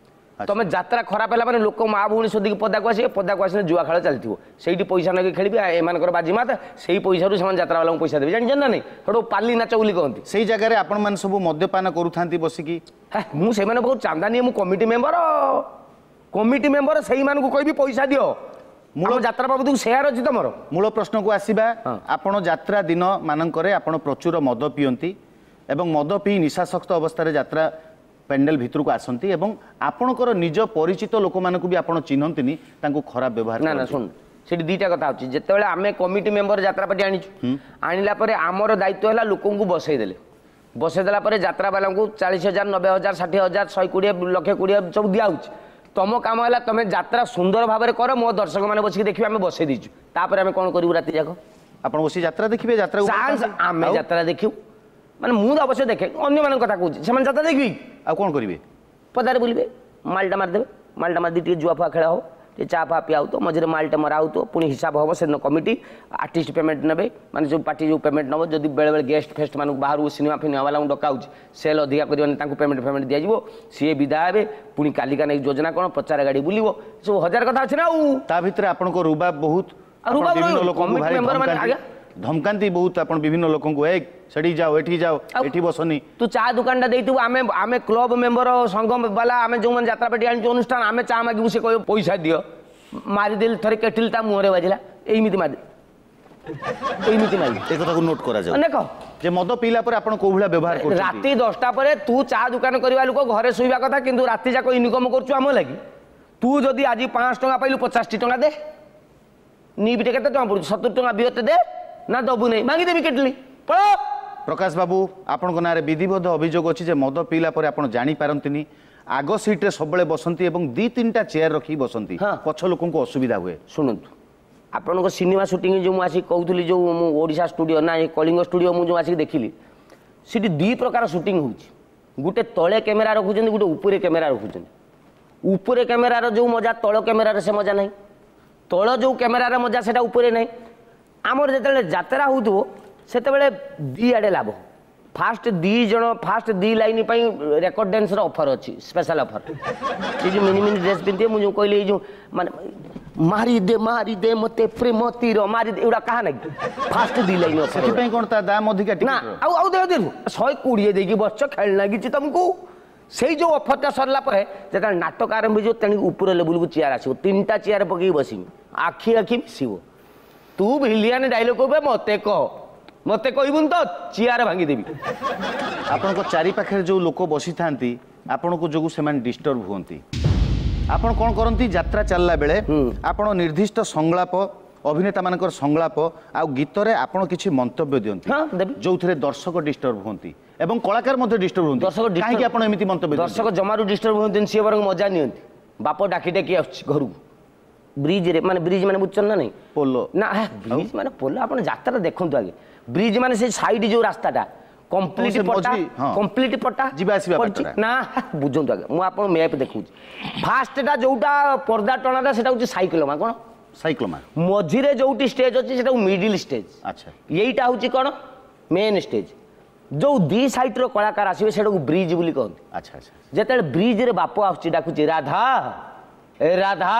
ତମେ ଯାତ୍ରା ଖରାପ ହେଲା ମାନେ ଲୋକ ମା ଭଉଣୀ ଶୋଧିକି ପଦାକୁ ଆସିବେ, ପଦାକୁ ଆସିଲେ ଜୁଆ ଖେଳ ଚାଲିଥିବ, ସେଇଠି ପଇସା ନେଇକି ଖେଳିବେ, ଏମାନଙ୍କର ବାଜିମାତ, ସେଇ ପଇସାରୁ ସେମାନେ ଯାତ୍ରାବାଲାଙ୍କୁ ପଇସା ଦେବେ, ଜାଣିଛନ୍ତି ନା ନାଇଁ? ସେଠୁ ପାଲି ନାଚ ବୋଲି କହନ୍ତି। ସେଇ ଜାଗାରେ ଆପଣମାନେ ସବୁ ମଦ୍ୟପାନ କରୁଥାନ୍ତି ବସିକି? ମୁଁ ସେମାନଙ୍କ ପାଖରୁ ଚାନ୍ଦା ନିଏ, ମୁଁ କମିଟି ମେମ୍ବର, କମିଟି ମେମ୍ବର ସେଇମାନଙ୍କୁ କହିବି ପଇସା ଦିଅ। ମୂଳ ଯାତ୍ରା ବାବଦକୁ ସେୟାର ଅଛି ତମର। ମୂଳ ପ୍ରଶ୍ନକୁ ଆସିବା, ଆପଣ ଯାତ୍ରା ଦିନ ମାନଙ୍କରେ ଆପଣ ପ୍ରଚୁର ମଦ ପିଅନ୍ତି ଏବଂ ମଦ ପିଇ ନିଶାସକ୍ତ ଅବସ୍ଥାରେ ଯାତ୍ରା ପ୍ୟାଣ୍ଡେଲ ଭିତରକୁ ଆସନ୍ତି ଏବଂ ଆପଣଙ୍କର ନିଜ ପରିଚିତ ଲୋକମାନଙ୍କୁ ବି ଆପଣ ଚିହ୍ନନ୍ତିନି, ତାଙ୍କୁ ଖରାପ ବ୍ୟବହାର। ନା ନା, ଶୁଣ, ସେଠି ଦୁଇଟା କଥା ଅଛି। ଯେତେବେଳେ ଆମେ କମିଟି ମେମ୍ବର ଯାତ୍ରା ପାର୍ଟି ଆଣିଛୁ, ଆଣିଲା ପରେ ଆମର ଦାୟିତ୍ୱ ହେଲା ଲୋକଙ୍କୁ ବସେଇ ଦେଲେ, ବସେଇ ଦେଲା ପରେ ଯାତ୍ରାବାଲାଙ୍କୁ ଚାଳିଶ ହଜାର, ନବେ ହଜାର, ଷାଠିଏ ହଜାର, ଶହେ କୋଡ଼ିଏ, ଲକ୍ଷେ କୋଡ଼ିଏ ସବୁ ଦିଆହେଉଛି। ତମ କାମ ହେଲା ତମେ ଯାତ୍ରା ସୁନ୍ଦର ଭାବରେ କର, ମୋ ଦର୍ଶକମାନେ ବସିକି ଦେଖିବେ ଆମେ ବସେଇ ଦେଇଛୁ। ତାପରେ ଆମେ କ'ଣ କରିବୁ ରାତି ଯାକ? ଆପଣ ବସି ଯାତ୍ରା ଦେଖିବେ? ଯାତ୍ରା ଆମେ ଯାତ୍ରା ଦେଖିବୁ ମାନେ ମୁଁ ତ ଅବଶ୍ୟ ଦେଖେ, ଅନ୍ୟମାନଙ୍କ କଥା କହୁଛି, ସେମାନେ ଯାତ୍ରା ଦେଖିବେ ଆଉ କ'ଣ କରିବେ? ପଦାରେ ବୁଲିବେ, ମାଲଟା ମାରିଦେବେ, ମାଲଟା ମାରିଦେଇ ଟିକେ ଜୁଆ ଫୁଆ ଖେଳ ହବ, ଟିକେ ଚା ଫା ପିଆ ହେଉଥିବ, ମଝିରେ ମାଲଟା ମରା ହେଉଥିବ, ପୁଣି ହିସାବ ହେବ। ସେଦିନ କମିଟି ଆର୍ଟିଷ୍ଟ ପେମେଣ୍ଟ ନେବେ, ମାନେ ଯେଉଁ ପାର୍ଟି ଯେଉଁ ପେମେଣ୍ଟ ନେବ, ଯଦି ବେଳେବେଳେ ଗେଷ୍ଟ ଫେଷ୍ଟ ମାନଙ୍କୁ ବାହାରୁ ସିନେମା ଫିନେମା ବାଲାଙ୍କୁ ଡକା ହେଉଛି, ସେଲ୍ ଅଧିକା କରିବନି, ତାଙ୍କୁ ପେମେଣ୍ଟ ଫେମେଣ୍ଟ ଦିଆଯିବ, ସିଏ ବିଦା ହେବେ, ପୁଣି କାଲିକା ନେଇକି ଯୋଜନା କ'ଣ, ପ୍ରଚାର ଗାଡ଼ି ବୁଲିବ, ସବୁ ହଜାର କଥା ଅଛି ନା। ଆଉ ତା ଭିତରେ ଆପଣଙ୍କ ରୁବାବ ବହୁତ, ଆଜ୍ଞା ଧମକାନ୍ତି ବହୁତ ଆପଣ ବିଭିନ୍ନ ଲୋକଙ୍କୁ, ଏ ସେଠି ଯାଅ, ଏଠି ଯାଅ, ଏଠି ବସନି। ତୁ ଚା ଦୋକାନଟା ଦେଇଥିବୁ, ଆମେ ଆମେ କ୍ଲବ ମେମ୍ବର ସଂଘ ବାଲା, ଆମେ ଯେଉଁମାନେ ଯାତ୍ରା ପାର୍ଟି ଆଣିଛୁ ଅନୁଷ୍ଠାନ, ଆମେ ଚା ମାଗିବୁ, ସେ କହିବ ପଇସା ଦିଅ। ମାରିଦେଲି ଥରେ କେଟିଲ ତା ମୁହଁରେ ବାଜିଲା, ଏଇମିତି ମାରି ଏଇମିତି ମାରି। ଏ କଥାକୁ ନୋଟ୍ କରାଯାଉ ଦେଖ ଯେ ମଦ ପିଇଲା ପରେ ଆପଣ କୋଉ ଭଳିଆ ବ୍ୟବହାର କରୁଛନ୍ତି। ରାତି ଦଶଟା ପରେ ତୁ ଚା ଦୋକାନ କରିବା ଲୋକ ଘରେ ଶୋଇବା କଥା, କିନ୍ତୁ ରାତି ଯାକ ଇନକମ୍ କରୁଛୁ ଆମ ଲାଗି। ତୁ ଯଦି ଆଜି ପାଞ୍ଚଶହ ଟଙ୍କା ପାଇଲୁ, ପଚାଶଟି ଟଙ୍କା ଦେ, ନିବିଟେ କେତେ ଟଙ୍କା ପଡୁଛି, ସତୁରି ଟଙ୍କା ବିଅତେ ଦେ, ନା ଦବୁ ନାହିଁ ଭାଙ୍ଗିଦେବି କେଟଲି ପଳ। ପ୍ରକାଶ ବାବୁ, ଆପଣଙ୍କ ନାଁରେ ବିଧିବଦ୍ଧ ଅଭିଯୋଗ ଅଛି ଯେ ମଦ ପିଇଲା ପରେ ଆପଣ ଜାଣିପାରନ୍ତିନି, ଆଗ ସିଟ୍ରେ ସବୁବେଳେ ବସନ୍ତି ଏବଂ ଦୁଇ ତିନିଟା ଚେୟାର ରଖିକି ବସନ୍ତି, ପଛ ଲୋକଙ୍କୁ ଅସୁବିଧା ହୁଏ। ଶୁଣନ୍ତୁ, ଆପଣଙ୍କ ସିନେମା ସୁଟିଂ ଯେଉଁ ମୁଁ ଆସିକି କହୁଥିଲି, ଯେଉଁ ମୁଁ ଓଡ଼ିଶା ଷ୍ଟୁଡ଼ିଓ ନା କଳିଙ୍ଗ ଷ୍ଟୁଡ଼ିଓ ମୁଁ ଯେଉଁ ଆସିକି ଦେଖିଲି, ସେଠି ଦୁଇ ପ୍ରକାର ସୁଟିଂ ହେଉଛି। ଗୋଟେ ତଳେ କ୍ୟାମେରା ରଖୁଛନ୍ତି, ଗୋଟେ ଉପରେ କ୍ୟାମେରା ରଖୁଛନ୍ତି। ଉପରେ କ୍ୟାମେରାର ଯେଉଁ ମଜା, ତଳ କ୍ୟାମେରାର ସେ ମଜା ନାହିଁ। ତଳ ଯେଉଁ କ୍ୟାମେରାର ମଜା ସେଟା ଉପରେ ନାହିଁ। ଆମର ଯେତେବେଳେ ଯାତ୍ରା ହେଉଥିବ ସେତେବେଳେ ଦୁଇ ଆଡ଼େ ଲାଭ। ଫାଷ୍ଟ ଦୁଇ ଜଣ, ଫାଷ୍ଟ ଦୁଇ ଲାଇନ୍ ପାଇଁ ରେକର୍ଡ ଡ୍ୟାନ୍ସର ଅଫର୍ ଅଛି, ସ୍ପେଶାଲ ଅଫର୍। ସେ ଯେଉଁ ମିନି ମିନି ଡ୍ରେସ୍ ପିନ୍ଧିବେ, ମୁଁ ଯେଉଁ କହିଲି ଏଇ ଯେଉଁ ମାନେ ମାରି ଦେ ମାରି ଦେ ମତେ ପ୍ରେମ ତୀର ମାରି ଦେ, ଏଗୁଡ଼ା କାହା ନାଗି? ଫାଷ୍ଟ ଦୁଇ ଲାଇନ୍ ଅଫର୍। ସେଥିପାଇଁ କ'ଣ ତା ଦାମ ଅଧିକା? ନା, ଆଉ ଆଉ ଦେହ ଦେବୁ ଶହେ କୋଡ଼ିଏ ଦେଇକି ବସିଛ, ଖେଳ ଲାଗିଛି ତମକୁ। ସେଇ ଯେଉଁ ଅଫର୍ଟା ସରିଲା ପରେ ଯେତେବେଳେ ନାଟକ ଆରମ୍ଭ ହେଇଯିବ, ତେଣିକି ଉପର ଲେବୁଲକୁ ଚେୟାର ଆସିବ, ତିନିଟା ଚେୟାର ପକେଇକି ବସିବି, ଆଖି ଆଖି ମିଶିବ। ତୁ ଭିଲିଆନ ଡାଇଲଗ କହିବେ, ମତେ କହ, ମତେ କହିବୁନି ତ ଚେୟାର ଭାଙ୍ଗିଦେବି। ଆପଣଙ୍କ ଚାରି ପାଖରେ ଯେଉଁ ଲୋକ ବସିଥାନ୍ତି ଆପଣଙ୍କ ଯୋଗୁଁ ସେମାନେ ଡିଷ୍ଟର୍ବ ହୁଅନ୍ତି। ଆପଣ କ'ଣ କରନ୍ତି ଯାତ୍ରା ଚାଲିଲା ବେଳେ? ଆପଣ ନିର୍ଦ୍ଦିଷ୍ଟ ସଂଳାପ, ଅଭିନେତାମାନଙ୍କର ସଂଳାପ ଆଉ ଗୀତରେ ଆପଣ କିଛି ମନ୍ତବ୍ୟ ଦିଅନ୍ତି ଯେଉଁଥିରେ ଦର୍ଶକ ଡିଷ୍ଟର୍ବ ହୁଅନ୍ତି ଏବଂ କଳାକାର ମଧ୍ୟ ଡିଷ୍ଟର୍ବ ହୁଅନ୍ତି। ଦର୍ଶକ କାହିଁକି ଆପଣ ଏମିତି ମନ୍ତବ୍ୟ? ଦର୍ଶକ ଜମାରୁ ଡିଷ୍ଟର୍ବ ହୁଅନ୍ତିନି, ସିଏ ବରଂ ମଜା ନିଅନ୍ତି। ବାପ ଡାକି ଡାକି ଆସୁଛି ଘରକୁ ବ୍ରିଜରେ, ମାନେ ବ୍ରିଜ ମାନେ ବୁଝୁଛନ୍ତି ନା ନାଇଁ? ପୋଲ ନା, ବ୍ରିଜ ମାନେ ପୋଲ। ଆପଣ ଯାତ୍ରା ଦେଖନ୍ତୁ ଆଗେ, ବ୍ରିଜ ମାନେ ସେ ସାଇଡ୍ ଯୋଉ ରାସ୍ତାଟା କମ୍ପ୍ଲିଟ ପଟା, କମ୍ପ୍ଲିଟ ପଟା ଯିବା ଆସିବା ନା, ବୁଝନ୍ତୁ ଆଜ୍ଞା, ମୁଁ ଆପଣ ମ୍ୟାପ୍ ଦେଖଉଛି। ଫାଷ୍ଟଟା ଯୋଉଟା ପର୍ଦ୍ଦା ଟଣାଟା ସେଟା ହଉଛି ସାଇକ୍ଲୋମା। କ'ଣ ସାଇକ୍ଲୋମା? ମଝିରେ ଯୋଉଠି ଷ୍ଟେଜ୍ ଅଛି ସେଟା ମିଡିଲ ଷ୍ଟେଜ୍। ଆଚ୍ଛା, ଏଇଟା ହଉଛି କ'ଣ ମେନ୍ ଷ୍ଟେଜ୍। ଯୋଉ ଦି ସାଇଡ୍ର କଳାକାର ଆସିବେ ସେଟାକୁ ବ୍ରିଜ ବୋଲି କହନ୍ତି। ଆଚ୍ଛା ଆଚ୍ଛା। ଯେତେବେଳେ ବ୍ରିଜରେ ବାପ ଆସୁଛି ଡାକୁଛି ରାଧା ଏ ରାଧା,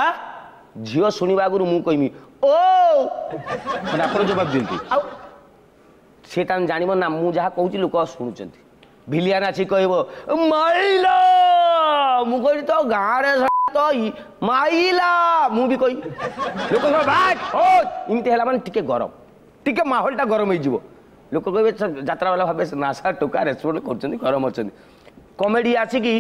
ଝିଅ ଶୁଣିବା ଆଗରୁ ମୁଁ କହିମି ଓ, ମାନେ ଆପଣ ଜବାବ ଦିଅନ୍ତି। ଆଉ ସେ ତାଙ୍କୁ ଜାଣିବ ନା ମୁଁ ଯାହା କହୁଛି ଲୋକ ଶୁଣୁଛନ୍ତି। ଭିଲିଆନ ଆସି କହିବ ମାଇଲ, ମୁଁ କହିଲି ତ ଗାଁରେ ତ ମାଇଲା ମୁଁ ବି କହି ଲୋକଙ୍କ ଭାଇ ଓ ଏମିତି ହେଲା ମାନେ ଟିକେ ଗରମ ଟିକେ ମାହୋଲଟା ଗରମ ହେଇଯିବ ଲୋକ କହିବେ ଯାତ୍ରାବାଲା ଭାବେ ନା ସାର୍ ଟୋକା ରେସ୍ପଣ୍ଡ କରୁଛନ୍ତି ଗରମ ଅଛନ୍ତି କମେଡ଼ି ଆସିକି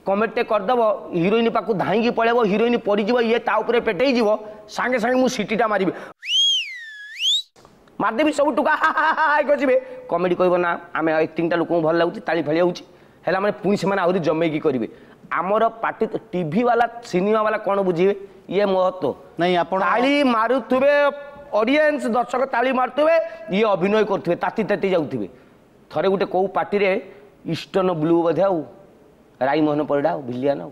କମେଡ଼ିଟେ କରିଦେବ ହିରୋଇନ ପାଖକୁ ଧାଇଁକି ପଳେଇବ ହିରୋଇନ ପଡ଼ିଯିବ ଇଏ ତା ଉପରେ ପେଟେଇ ଯିବ ସାଙ୍ଗେ ସାଙ୍ଗେ ମୁଁ ସିଟିଟା ମାରିବି ମାରିଦେବି ସବୁ ଟୋକା ହା ହା ହା କରିଯିବେ କମେଡ଼ି କହିବ ନା ଆମେ ଆକ୍ଟିଂଟା ଲୋକଙ୍କୁ ଭଲ ଲାଗୁଛି ତାଳି ଫାଳି ହେଉଛି ହେଲା ମାନେ ପୁଣି ସେମାନେ ଆହୁରି ଜମେଇକି କରିବେ ଆମର ପାର୍ଟି ଟିଭି ବାଲା ସିନେମା ବାଲା କ'ଣ ବୁଝିବେ ଇଏ ମହତ୍ଵ ନାଇଁ ଆପଣ ତାଳି ମାରୁଥିବେ ଅଡ଼ିଏନ୍ସ ଦର୍ଶକ ତାଳି ମାରୁଥିବେ ଇଏ ଅଭିନୟ କରୁଥିବେ ତାତି ତାତି ଯାଉଥିବେ ଥରେ ଗୋଟେ କେଉଁ ପାର୍ଟିରେ ଇଷ୍ଟର୍ଣ୍ଣ ବ୍ଲୁ ବୋଧେ ଆଉ ରାଇମୋହନ ପରିଡ଼ା ଆଉ ଭିଲିଆନ ଆଉ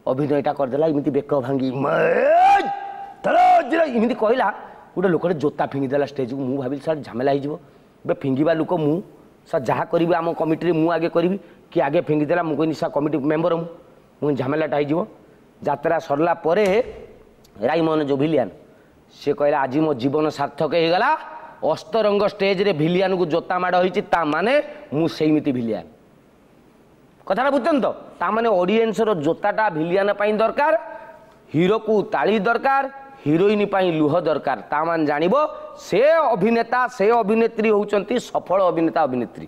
ଅଭିନୟଟା କରିଦେଲା ଏମିତି ବେକ ଭାଙ୍ଗି ଏମିତି କହିଲା ଗୋଟେ ଲୋକଟେ ଜୋତା ଫିଙ୍ଗିଦେଲା ଷ୍ଟେଜକୁ ମୁଁ ଭାବିଲି ସାର୍ ଝାମେଲା ହେଇଯିବ ଏବେ ଫିଙ୍ଗିବା ଲୋକ ମୁଁ ସାର୍ ଯାହା କରିବି ଆମ କମିଟିରେ ମୁଁ ଆଗେ କରିବି କି ଆଗେ ଫିଙ୍ଗିଦେଲା ମୁଁ କହିନି ସାର୍ କମିଟି ମେମ୍ବର ମୁଁ ମୁଁ ଝାମେଲାଟା ହେଇଯିବ ଯାତ୍ରା ସରିଲା ପରେ ରାଇମୋହନ ଯେଉଁ ଭିଲିଆନ ସେ କହିଲା ଆଜି ମୋ ଜୀବନ ସାର୍ଥକ ହେଇଗଲା ଅସ୍ତରଙ୍ଗ ଷ୍ଟେଜରେ ଭିଲିଆନକୁ ଜୋତା ମାଡ଼ ହେଇଛି ତା ମାନେ ମୁଁ ସେଇମିତି ଭିଲିଆନ କଥାଟା ବୁଝୁଛନ୍ତି ତ ତା ମାନେ ଅଡ଼ିଏନ୍ସର ଜୋତାଟା ଭିଲିଆନ ପାଇଁ ଦରକାର ହିରୋକୁ ତାଳି ଦରକାର ହିରୋଇନ ପାଇଁ ଲୁହ ଦରକାର ତା ମାନେ ଜାଣିବ ସେ ଅଭିନେତା ସେ ଅଭିନେତ୍ରୀ ହେଉଛନ୍ତି ସଫଳ ଅଭିନେତା ଅଭିନେତ୍ରୀ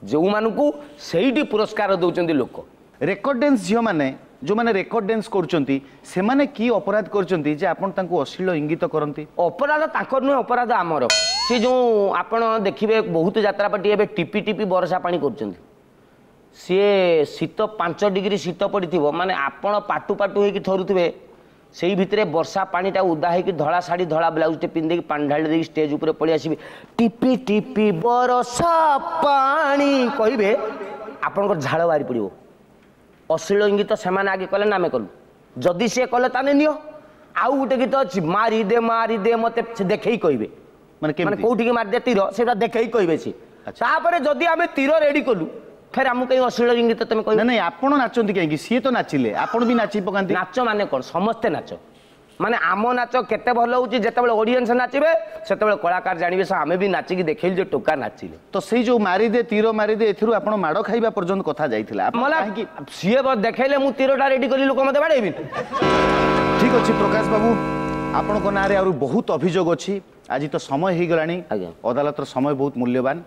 ଯେଉଁମାନଙ୍କୁ ସେଇଠି ପୁରସ୍କାର ଦେଉଛନ୍ତି ଲୋକ ରେକର୍ଡ ଡ୍ୟାନ୍ସ ଝିଅମାନେ ଯେଉଁମାନେ ରେକର୍ଡ ଡ୍ୟାନ୍ସ କରୁଛନ୍ତି ସେମାନେ କି ଅପରାଧ କରୁଛନ୍ତି ଯେ ଆପଣ ତାଙ୍କୁ ଅଶ୍ଳୀଳ ଇଙ୍ଗିତ କରନ୍ତି ଅପରାଧ ତାଙ୍କର ନୁହେଁ ଅପରାଧ ଆମର ସେ ଯେଉଁ ଆପଣ ଦେଖିବେ ବହୁତ ଯାତ୍ରା ପାର୍ଟି ଏବେ ଟିପି ଟିପି ବର୍ଷା ପାଣି କରୁଛନ୍ତି ସିଏ ଶୀତ ପାଞ୍ଚ ଡିଗ୍ରୀ ଶୀତ ପଡ଼ିଥିବ ମାନେ ଆପଣ ପାଟୁ ପାଟୁ ହେଇକି ଥରୁଥିବେ ସେଇ ଭିତରେ ବର୍ଷା ପାଣିଟା ଓଦା ହେଇକି ଧଳା ଶାଢ଼ୀ ଧଳା ବ୍ଲାଉଜଟେ ପିନ୍ଧିକି ପାଣି ଢାଳି ଦେଇକି ଷ୍ଟେଜ୍ ଉପରେ ପଳେଇ ଆସିବେ ଟିପି ଟିପି ବରଷା ପାଣି କହିବେ ଆପଣଙ୍କର ଝାଳ ବାହାରି ପଡ଼ିବ ଅଶ୍ଳୀଳ ଇଙ୍ଗିତ ସେମାନେ ଆଗେ କଲେ ନା ଆମେ କଲୁ ଯଦି ସିଏ କଲେ ତାହେଲେ ନିଅ ଆଉ ଗୋଟେ ଗୀତ ଅଛି ମାରିଦେ ମାରିଦେ ମତେ ସେ ଦେଖେଇ କହିବେ ମାନେ ମାନେ କୋଉଠିକି ମାରିଦେ ତୀର ସେଇଟା ଦେଖେଇ କହିବେ ସିଏ ତାପରେ ଯଦି ଆମେ ତୀର ରେଡି କଲୁ ଫେର ଆମକୁ କାହିଁ ଅଶ୍ଳୀଳ ଇଙ୍ଗିତ ତମେ କହିବ ନାଇଁ ଆପଣ ନାଚନ୍ତି କାହିଁକି ସିଏ ତ ନାଚିଲେ ଆପଣ ବି ନାଚି ପକାନ୍ତି ନାଚ ମାନେ କ'ଣ ସମସ୍ତେ ନାଚ ମାନେ ଆମ ନାଚ କେତେ ଭଲ ହେଉଛି ଯେତେବେଳେ ଅଡ଼ିଏନ୍ସ ନାଚିବେ ସେତେବେଳେ କଳାକାର ଜାଣିବେ ସେ ଆମେ ବି ନାଚିକି ଦେଖେଇଲୁ ଯେ ଟୋକା ନାଚିଲେ ତ ସେଇ ଯୋଉ ମାରିଦେ ତୀର ମାରିଦେ ଏଥିରୁ ଆପଣ ମାଡ଼ ଖାଇବା ପର୍ଯ୍ୟନ୍ତ କଥା ଯାଇଥିଲା କାହିଁକି ସିଏ ଦେଖେଇଲେ ମୁଁ ତୀରଟା ରେଡି କଲି ଲୋକ ମତେ ବାଡ଼େଇବି ଠିକ ଅଛି ପ୍ରକାଶ ବାବୁ ଆପଣଙ୍କ ନାଁରେ ଆହୁରି ବହୁତ ଅଭିଯୋଗ ଅଛି ଆଜି ତ ସମୟ ହେଇଗଲାଣି ଅଦାଲତର ସମୟ ବହୁତ ମୂଲ୍ୟବାନ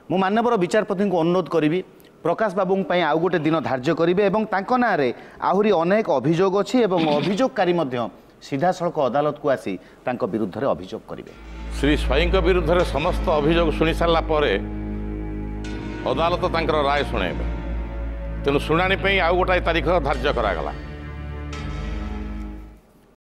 ମୁଁ ମାନ୍ୟବର ବିଚାରପତିଙ୍କୁ ଅନୁରୋଧ କରିବି ପ୍ରକାଶ ବାବୁଙ୍କ ପାଇଁ ଆଉ ଗୋଟେ ଦିନ ଧାର୍ଯ୍ୟ କରିବେ ଏବଂ ତାଙ୍କ ନାଁରେ ଆହୁରି ଅନେକ ଅଭିଯୋଗ ଅଛି ଏବଂ ଅଭିଯୋଗକାରୀ ମଧ୍ୟ ସିଧାସଳଖ ଅଦାଲତକୁ ଆସି ତାଙ୍କ ବିରୁଦ୍ଧରେ ଅଭିଯୋଗ କରିବେ ଶ୍ରୀ ସ୍ୱାଇଁଙ୍କ ବିରୁଦ୍ଧରେ ସମସ୍ତ ଅଭିଯୋଗ ଶୁଣି ସାରିଲା ପରେ ଅଦାଲତ ତାଙ୍କର ରାୟ ଶୁଣାଇବେ ତେଣୁ ଶୁଣାଣି ପାଇଁ ଆଉ ଗୋଟାଏ ତାରିଖ ଧାର୍ଯ୍ୟ କରାଗଲା।